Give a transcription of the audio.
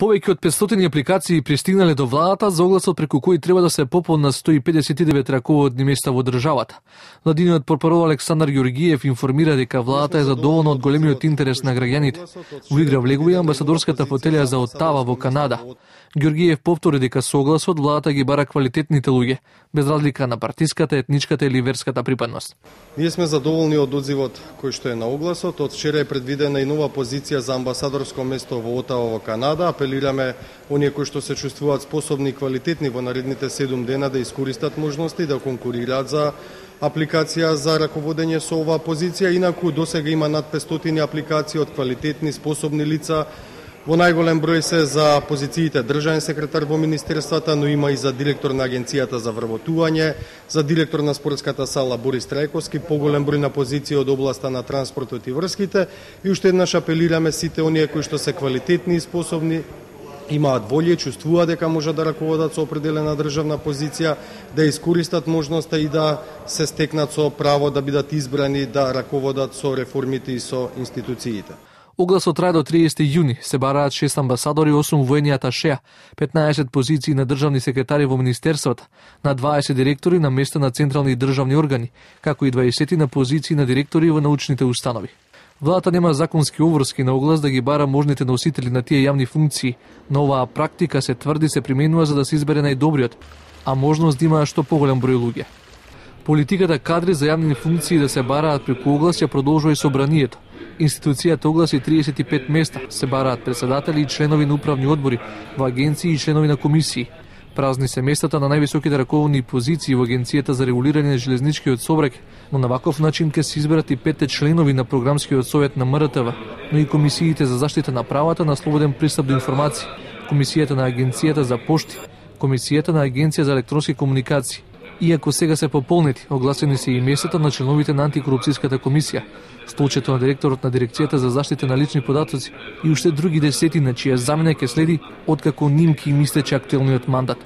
Повеќе од 500 апликации пристигнале до владата за огласот преку кои треба да се пополнат 159 раководни места во државата. Владиниот портпарол Александар Ѓорѓиев информира дека владата е задоволна од големиот интерес на граѓаните. Во игра влегува и амбасадорската фотелја за Отава во Канада. Ѓорѓиев повтори дека со огласот владата ги бара квалитетните луѓе, без разлика на партиската, етничката или верската припадност. Ние сме задоволни од одзивот кој што е на огласот. Од вчера е предвидена и нова позиција за амбасадорско место во Отава во Канада. Апелираме оние кои што се чувствуваат способни и квалитетни во наредните 7 дена да искористат можности да конкурираат за апликација за раководење со оваа позиција. Инаку досега има над 500 апликации од квалитетни, способни лица. Во најголем број се за позициите државен секретар во министерствата, но има и за директор на Агенцијата за вработување, за директор на спортската сала Борис Трајковски, поголем број на позиции од областа на транспортот и врските. И уште еднаш апелираме сите оние кои што се квалитетни и способни, имаат волја, чувствуваат дека можат да раководат со определена државна позиција, да искористат можноста и да се стекнат со право да бидат избрани да раководат со реформите и со институциите. Огласот трае до 30 јуни, се бараат 6 амбасадори, 8 воени аташеа, 15 позиции на државни секретари во министерствата, на 20 директори на места на централни и државни органи, како и 20 на позиции на директори во научните установи. Владата нема законски обврски на оглас да ги бара можните носители на тие јавни функции, но оваа практика се тврди се применува за да се избере најдобриот, а можност да има што поголем број луѓе. Политиката кадри за јавни функции да се бараат преку оглас ја продолжува и собранието. Институцијата огласи 35 места, се бараат председатели и членови на управни одбори во агенции и членови на комисии. Празни се местата на највисоките раководни позиции во Агенцијата за регулирање на железничкиот сообраќај, но на ваков начин ќе се изберат и 5 членови на програмскиот совет на МРТВ, но и комисиите за заштита на правата на слободен пристап до информации, комисијата на Агенцијата за пошти, комисијата на Агенција за електронски комуникации. Иако сега се пополнети, огласени се и местата на членовите на антикорупцијската комисија, столчето на директорот на дирекцијата за заштита на лични податоци и уште други десетина чија замена ќе следи откако ним ќе им истече актуелниот мандат.